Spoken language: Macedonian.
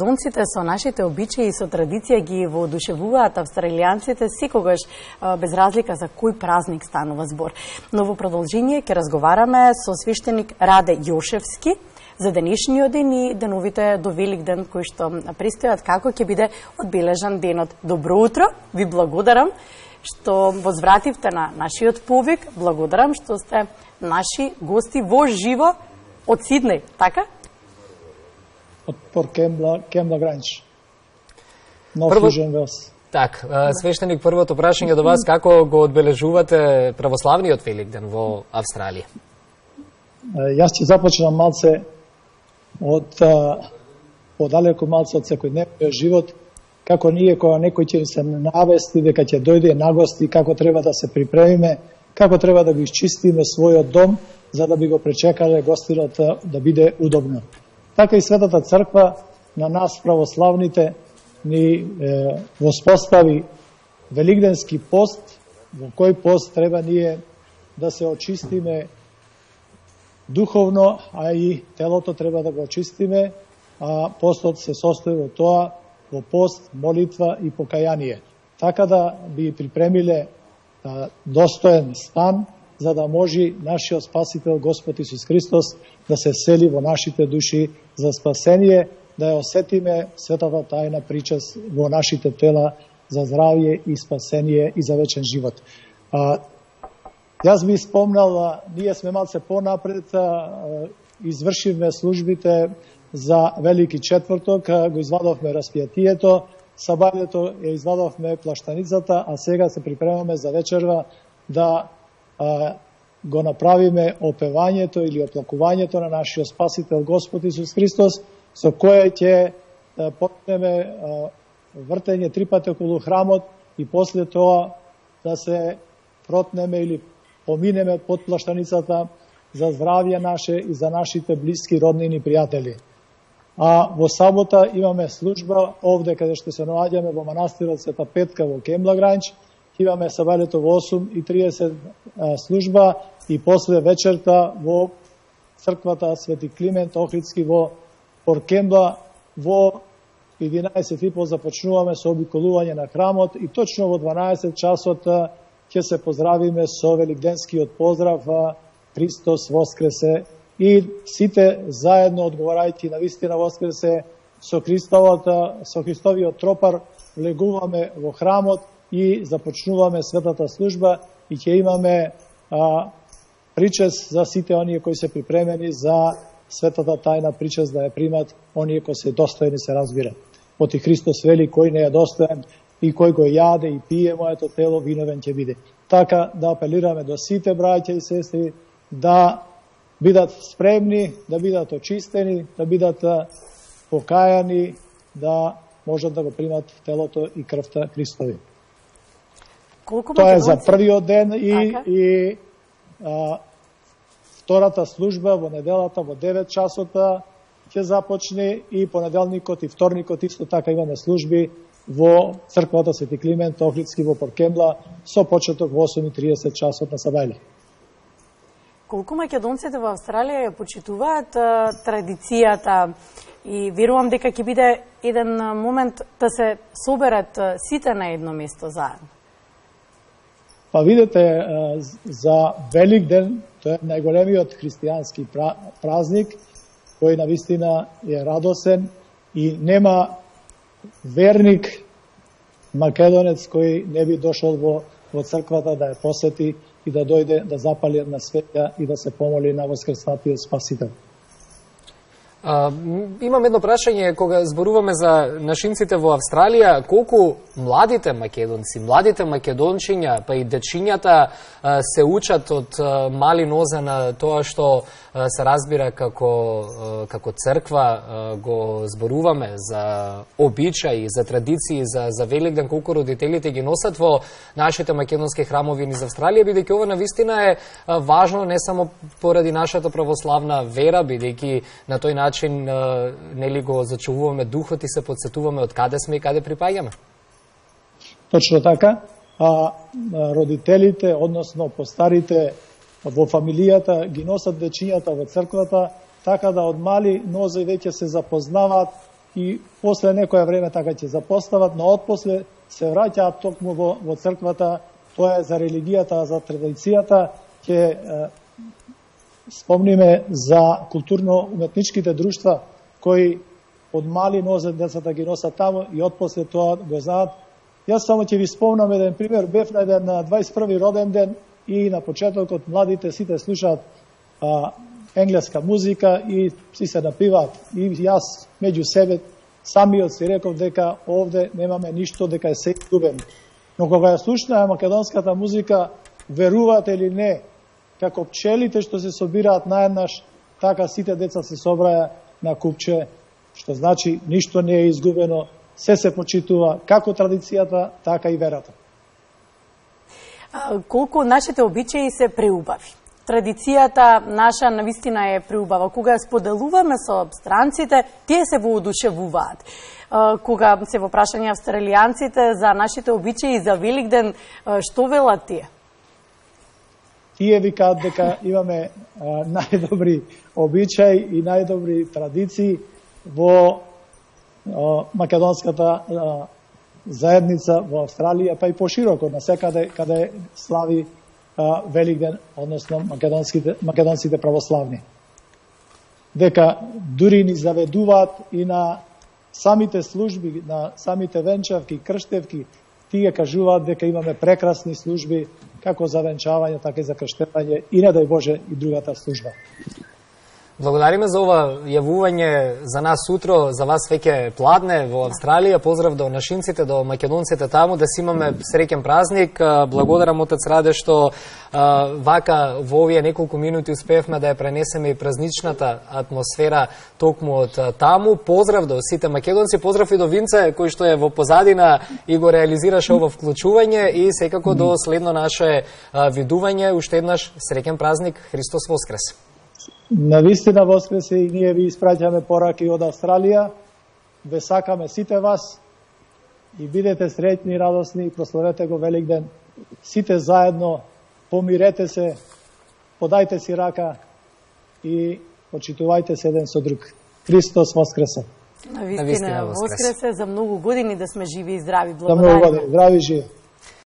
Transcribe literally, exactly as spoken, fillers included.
македонците со нашите обичаи и со традиција ги воодушевуваат австралијанците секогаш без разлика за кој празник станува збор. Но во продолжение ќе разговараме со свештеник Раде Јошевски за денешниот ден и деновите до Великден кои што престојат, како ќе биде одбележан денот. Добро утро, ви благодарам што возвративте на нашиот повик, благодарам што сте наши гости во живо од Сиднеј, така? Од Порт Кембла Гранч. Нов Фужен Велс. Так, свештеник, првото прашање до вас, како го одбележувате православниот Великден во Австралија? Јас ќе започнам малце од подалеку малце од секојдневниот живот, како ние кога некој ќе се навести дека ќе дојде на гости, како треба да се припремиме, како треба да го исчистиме својот дом, за да би го пречекале гостинот да биде удобно. Така и Светата Црква на нас православните ни е, воспостави великденски пост, во кој пост треба ние да се очистиме духовно, а и телото треба да го очистиме, а постот се состои во тоа, во пост, молитва и покаяние. Така да би припремиле а, достоен стан, за да може нашиот Спасител Господ Исус Христос да се сели во нашите души за спасение, да ја осетиме светата тајна причест во нашите тела за здравје и спасение и за вечен живот. А, јас би спомнал, ние сме малце понапред, а, извршивме службите за Велики четврток, го извадовме распијатието, сабајето ја извадовме плаштаницата, а сега се припремаме за вечерва да а, го направиме опевањето или оплакувањето на нашиот Спасител Господ Исус Христос, со кое ќе почнеме вртење три пати околу храмот и после тоа да се протнеме или поминеме под плаштаницата за здравје наше и за нашите блиски, роднини и пријатели. А во сабота имаме служба овде каде што се наоѓаме во манастирот Света Петка во Кембла Гранч. Имаме сабајлето во осум и триесет служба и после вечерта во црквата Свети Климент Охридски во Порт Кембла во единаесет и по започнуваме со обиколување на храмот и точно во дванаесет часот ќе се поздравиме со великденскиот поздрав Христос воскресе и сите заедно одговарајќи на вистина воскресе со Христовот, со Христовиот тропар влегуваме во храмот и започнуваме светата служба и ќе имаме а, причест за сите оние кои се припремени за светата тајна причест да ја примат оние кои се достојни, се разбира. Оти Христос вели кој не е достоен и кој го јаде и пие моето тело, виновен ќе биде. Така да апелираме до сите браќа и сестри да бидат спремни, да бидат очистени, да бидат покајани, да можат да го примат телото и крвта Христови. Колку Тоа е за првиот ден и, така? и а, втората служба во неделата во девет часота ќе започне и понеделникот и вторникот исто така имаме служби во црквата Свети Климент Охридски во Порт Кембла со почеток во осум и триесет часот на сабајле. Колку македонците во Австралија ја почитуваат а, традицијата и верувам дека ќе биде еден момент да се соберат а, сите на едно место заедно. Па видите, за Великден, тоа е најголемиот христијански празник, кој навистина е радосен и нема верник македонец кој не би дошол во, во црквата да ја посети и да дојде да запали една светја и да се помоли на воскреснатиот Спасител. А, имам едно прашање, кога зборуваме за нашинците во Австралија, колку младите македонци, младите македончиња, па и дечињата се учат од мали нозе на тоа што се разбира како, како црква, го зборуваме за обичаи, за традиции, за, за Великден, колку родителите ги носат во нашите македонски храмови низ Австралија, бидејќи ова навистина е важно не само поради нашата православна вера, бидејќи на тој начин начин нели го зачувуваме духот и се подсетуваме од каде сме и каде припаѓаме. Точно така. А родителите, односно постарите во фамилијата ги носат дечињата во црквата, така да од мали нозе веќе се запознаваат и после некоја време така ќе запостават, но отпосле се враќаат токму во, во црквата. Тоа е за религијата, за традицијата. Ќе спомниме за културно-уметничките друштва кои од мали нозет децата ги носат таму и отпосле тоа го знаат. Јас само ќе ви спомнам еден пример. Бев на еден на дваесет и први роден ден и на почетокот младите сите слушаат а, енглеска музика и си се напиваат. И јас меѓу себе самиот си реков дека овде немаме ништо, дека е се изгубено. Но кога ја слушнаа македонската музика, верувате или не, како пчелите што се собираат наеднаш, така сите деца се собраја на купче, што значи ништо не е изгубено, се се почитува како традицијата, така и верата. А, колку нашите обичаи се преубави. Традицијата наша навистина е преубава. Кога споделуваме со странците, тие се воодушевуваат. Кога се во прашање австралијанците за нашите обичаи за Великден, што велат тие? Тие викаат дека имаме а, најдобри обичаи и најдобри традиции во а, македонската а, заедница во Австралија, па и пошироко, на секаде каде слави а, Великден, односно македонските, македонците православни. Дека дури ни заведуваат и на самите служби, на самите венчавки, крштевки, тие кажуваат дека имаме прекрасни служби, како за венчавање, така и за крштевање и не дај Боже и другата служба. Благодариме за ова јавување за нас утро, за вас веќе пладне во Австралија. Поздрав до нашинците, до македонците таму, да си имаме среќен празник. Благодарам отец Раде што а, вака во овие неколку минути успеевме да ја пренесеме и празничната атмосфера токму од таму. Поздрав до сите македонци, поздрав и до Винце кој што е во позадина и го реализираше ова вклучување и секако до следно наше а, видување. Уште еднаш среќен празник, Христос воскресе. Навистина воскресе и ние ви испраќаме пораки од Австралија. Ве сакаме сите вас и бидете среќни, радосни и прославете го Великден. Сите заедно, помирете се, подајте си рака и почитувајте се еден со друг. Христос воскресе. Навистина воскресе. За многу години да сме живи и здрави. Благодарам. За многу години, здрави и живи.